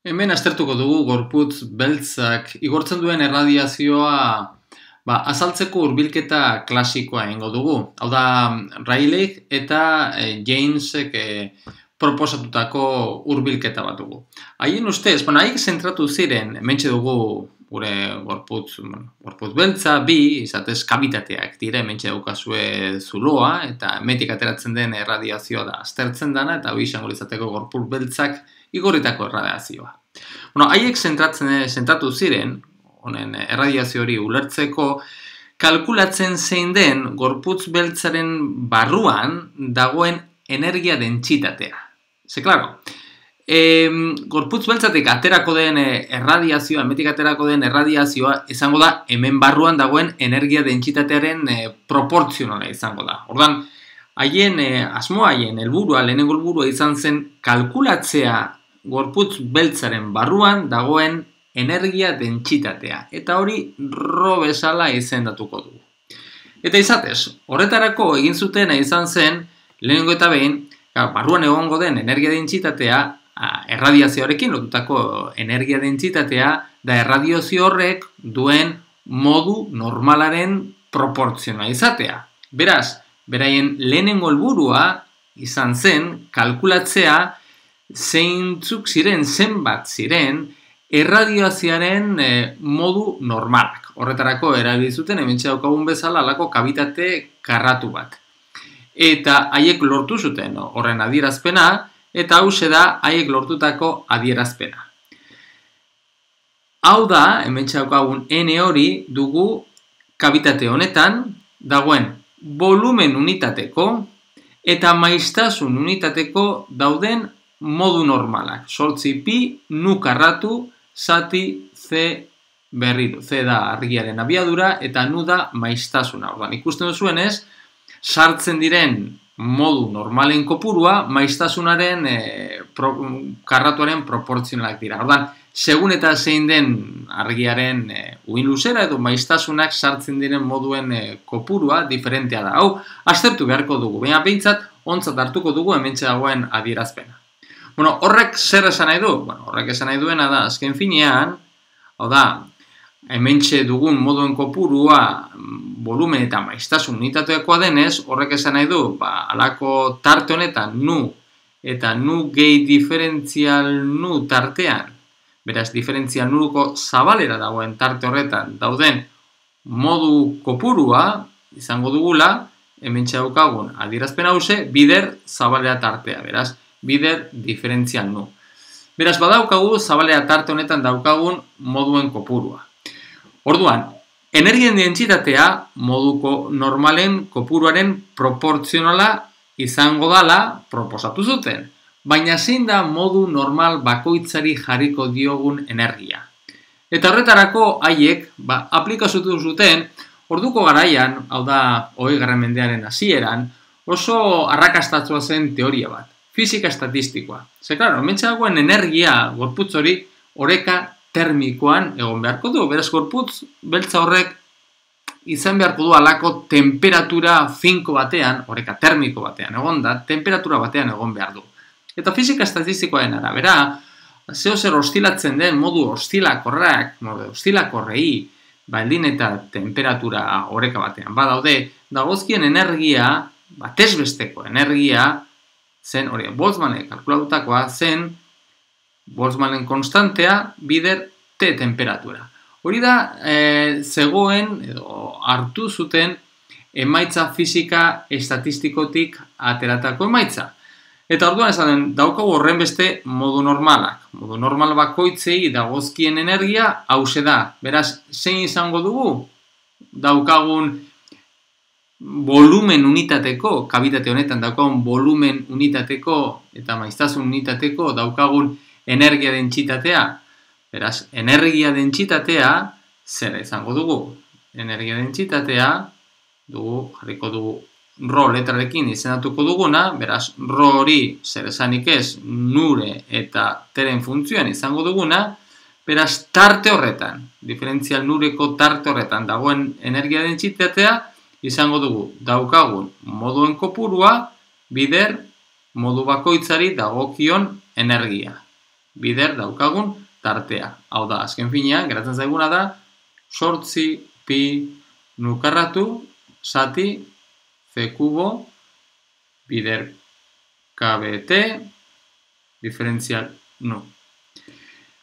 Hemen aztertuko dugu gorputz beltzak igortzen duen erradiazioa azaltzeko hurbilketa klasikoa egingo dugu. Hau da, Rayleigh eta Jamesek proposatutako hurbilketa bat dugu. Haien ustez, haiek zentratu ziren, hementxe dugu gure gorputz beltza, izatez kabitateak dire, hementxe daukazue zuloa, eta hemendik ateratzen den erradiazioa da aztertzen dana, eta hori izango litzateko gorputz beltzak igorritako erradiazioa. Haiek zentratu ziren, honen erradiazio hori ulertzeko, kalkulatzen zein den gorputz beltzaren barruan dagoen energia dentsitatea. Ze, klaro, gorputz beltzatik aterako den erradiazioa, hemetik aterako den erradiazioa, izango da hemen barruan dagoen energia dentsitatearen proportzionala izango da. Ordan, haien asmoa, haien helburua, lehenengo helburua izan zen kalkulatzea gorputz beltzaren barruan dagoen energia dentsitatea. Eta hori rho bezala izendatuko dugu. Eta izatez, horretarako egin zutena izan zen, lehenengo eta behin, barruan egongo den energia dentsitatea, erradiazioarekin lotutako energia dentsitatea, da erradiazio horrek duen modu normalaren proportzionala izatea. Beraz, beraien lehenengo helburua izan zen kalkulatzea zeintzuk ziren, zenbat ziren, erradiazioaren modu normalak. Horretarako erabili zuten hementxe daukagun bezala halako kabitate karratu bat. Eta haiek lortu zuten horren adierazpena, eta hauxe da haiek lortutako adierazpena. Hau da, hementxe daukagun N hori dugu kabitate honetan dagoen volumen unitateko eta maiztasun unitateko dauden modu normalak. 8 pi nu karratu zati C berritu. C da argiaren abiadura eta nu da maiztasuna. Ordan, ikusten duzuenez, sartzen diren modu normalen kopurua maiztasunaren karratuaren proportzionalak dira. Ordan, segun eta zein den argiaren uin luzera edo maiztasunak sartzen diren moduen kopurua diferentea da. Hau, aztertu beharko dugu. Baina behintzat, ontzat hartuko dugu hementxe dagoen adierazpena. Horrek zer esan nahi du? Horrek esan nahi duena da, azken finean, hau da, hementxe dugun moduen kopurua volumen eta maiztasun unitateakoa denez, horrek esan nahi du, halako tarte honetan nu eta nu gehi diferentzial nu tartean, beraz, diferentzial nuruko zabalera dagoen tarte horretan dauden modu kopurua izango dugula, hementxe daukagun adierazpen hause, bider zabalera tartea, beraz, bider diferentzial nu. Beraz, badaukagu zabalera tarte honetan daukagun moduen kopurua. Orduan, energien dentsitatea moduko normalen kopuruaren proportzionala izango dala proposatu zuten. Baina zein da modu normal bakoitzari jarriko diogun energia. Eta horretarako haiek aplikatu zuten orduko garaian, hau da 20. mendearen hasieran, oso arrakastatsua zen teoria bat. Fisika estatistikoa. Ze, klaro, hementxe dagoen energia gorputz hori oreka termikoan egon beharko du. Beraz, gorputz beltza horrek izan beharko du halako temperatura finko batean, oreka termiko batean egon da, temperatura batean egon behar du. Eta fisika estatistikoaren arabera, zeo zer ostilatzen den modu ostilakorrak, ostilakorrei, baldin eta temperatura oreka batean badaude, dagozkien energia, batezbesteko energia, zen, hori, Boltzmannek kalkulatutakoa zen Boltzmannen konstantea bider T temperatura. Hori da, zegoen, edo hartu zuten emaitza fisika estatistikotik ateratako emaitza. Eta orduan esaten, daukagu horren beste modu normalak. Modu normal bakoitzei dagozkien energia hause da. Beraz, zein izango dugu? Daukagun volumen unitateko, kabitate honetan daukagun volumen unitateko eta maiztasun unitateko daukagun energia dentsitatea. Beraz, energia dentsitatea zer izango dugu? Energia dentsitatea jarriko dugu rho letrarekin izendatuko duguna, beraz, rho hori zer esanik ez nure eta teren funtzioan izango duguna, beraz, tarte horretan, diferentzial nureko tarte horretan dagoen energia dentsitatea izango dugu daukagun moduen kopurua bider modu bakoitzari dagokion energia. bider daukagun tartea. Hau da, azken finean, geratzen zaiguna da, 8 pi nukarratu zati c kubo bider kbt diferentzial nu.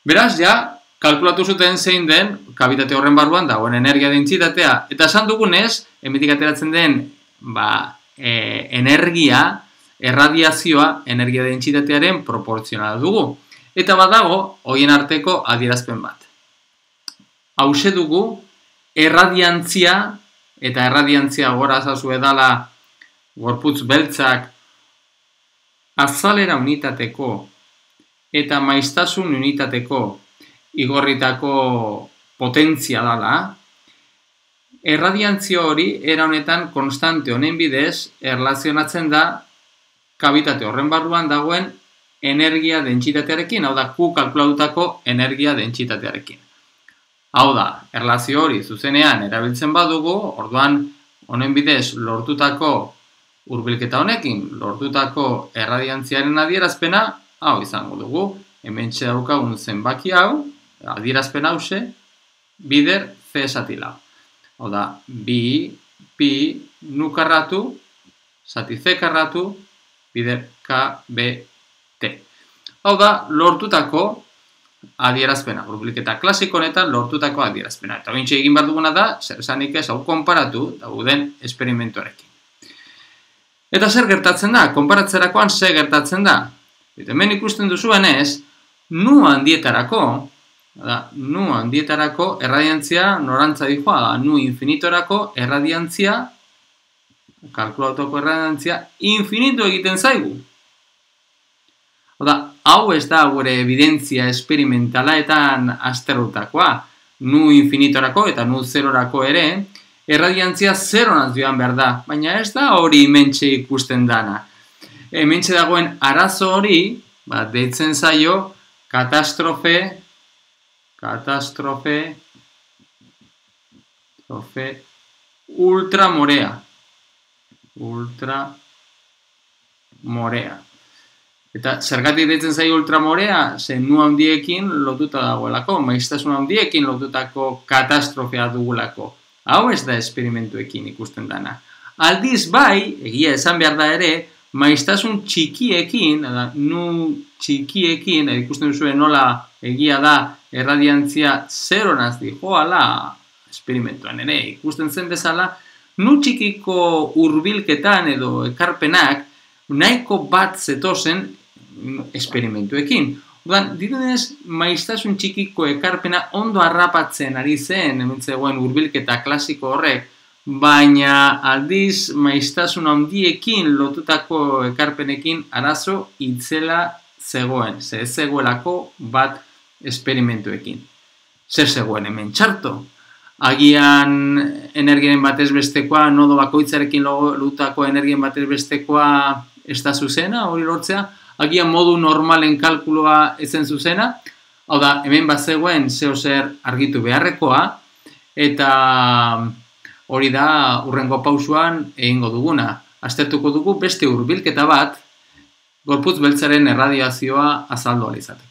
Beraz, ja, kalkulatu zuten zein den kabitate horren barruan dagoen energia dentsitatea. Eta esan dugunez, hemendik ateratzen den energia, erradiazioa, energia dentsitatearen proportzionala dugu. Eta badago, horien arteko adierazpen bat. Hauxe dugu, erradiantzia, eta erradiantzia gora zazu edala gorputz beltzak azalera unitateko eta maiztasun unitateko igorritako potentzia dala, erradiantzia hori era honetan konstante honen bidez erlazionatzen da kabitate horren barruan dagoen energia dentsitatearekin, hau da, Q kalkulatutako energia dentsitatearekin. Hau da, erlazio hori zuzenean erabiltzen badugu, orduan honen bidez lortutako hurbilketa honekin, lortutako erradiantziaren adierazpena, hau izango dugu, hementxe daukagun zenbaki hau, adierazpen hause, bider C zati lau. Hau da, bi, pi, nu karratu, zati C karratu, bider K, B, T. Hau da, lortutako adierazpena, hurbilketa klasiko honetan lortutako adierazpena. Eta bintxe egin behar duguna da, zer esanik ez hau konparatu dauden esperimentuarekin. Eta zer gertatzen da? Konparatzerakoan zer gertatzen da? Eta hemen ikusten duzuenez, nu handietarako erradiantzia norantza dijoa da, nu infinitorako erradiantzia, kalkulatoko erradiantzia, infinitu egiten zaigu. Oda, hau ez da gure evidentzia esperimentalaetan azterrutakoa, nu infinitorako eta nu zerorako ere, erradiantzia zeronaz joan behar da, baina ez da hori hementxe ikusten dana. Hementxe dagoen arazo hori, deitzen zaio, katastrofe ultramorea. Eta zergatik deitzen zaio ultramorea, zen nu handiekin lotuta dagoelako, maiztasun handiekin lotutako katastrofea dugulako. Hau ez da esperimentuekin ikusten dana. Aldiz bai, egia esan behar da ere, maiztasun txikiekin, nu txikiekin, ikusten duzuen nola egia da erradiantzia zeronaz dijoala, esperimentuan ere, ikusten zen bezala, nu txikiko hurbilketan edo ekarpenak nahiko bat zetozen esperimentuekin. Orduan, dirudez, maiztasun txikiko ekarpena ondo harrapatzen ari zen, hemen zegoen hurbilketa klasiko horrek, baina aldiz maiztasun handiekin lotutako ekarpenekin arazo itzela zegoen, ez zegoelako bat esperimentuekin. Zer zegoen hemen txarto? Agian energiaren batez bestekoa, nodo bakoitzarekin lotutako energiaren batez bestekoa ez da zuzena, hori lortzea, agian modu normalen kalkuloa ezen zuzena, hau da, hemen bat zegoen zeo zer argitu beharrekoa, eta hori da hurrengo pausuan egingo duguna. Aztertuko dugu beste hurbilketa bat, gorputz beltzaren erradiazioa azaldu ahal izateko.